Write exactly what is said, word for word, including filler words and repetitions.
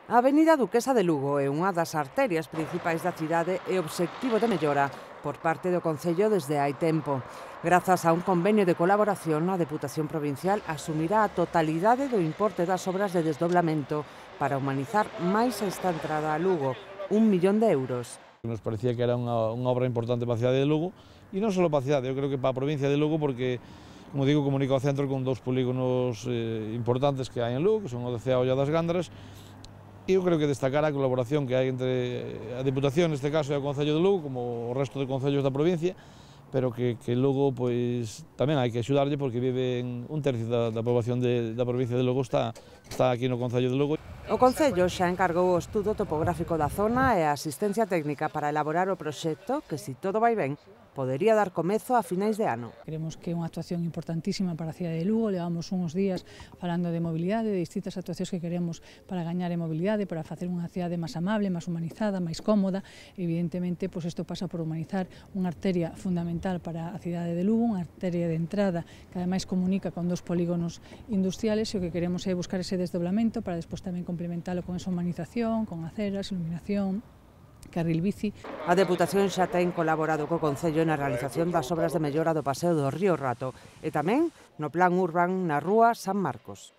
A Avenida Duquesa de Lugo é unha das arterias principais da cidade e obxectivo de mellora por parte do Concello desde hai tempo. Grazas a un convenio de colaboración, a Deputación Provincial asumirá a totalidade do importe das obras de desdoblamento para humanizar máis esta entrada a Lugo, un millón de euros. Nos parecía que era unha, unha obra importante para a cidade de Lugo, e non só para a cidade, eu creo que para a provincia de Lugo, porque, como digo, comunica o centro con dous polígonos eh, importantes que hai en Lugo, que son o de Cea e o das Gándaras, e eu creo que destacar a colaboración que hai entre a Deputación, neste caso, e o Concello de Lugo, como o resto de concellos da provincia, pero que, que Lugo, pois, tamén hai que axudarlle, porque viven un tercio da, da poboación de, da provincia de Lugo está, está aquí no Concello de Lugo. O Concello xa encargou o estudo topográfico da zona e a asistencia técnica para elaborar o proxecto que, se todo vai ben, podería dar comezo a finais de ano. Creemos que é unha actuación importantísima para a cidade de Lugo. Levamos uns días falando de mobilidade, de distintas actuacións que queremos para gañar en mobilidade, para facer unha cidade máis amable, máis humanizada, máis cómoda. Evidentemente, pois isto pasa por humanizar unha arteria fundamental para a cidade de Lugo, unha arteria de entrada que ademais comunica con dos polígonos industriales, e o que queremos é buscar ese desdoblamento para despois tamén complementalo con esa humanización, con aceras, iluminación, carril bici. A Deputación xa ten colaborado co Concello na realización das obras de mellora do paseo do Río Rato e tamén no Plan Urban na Rúa San Marcos.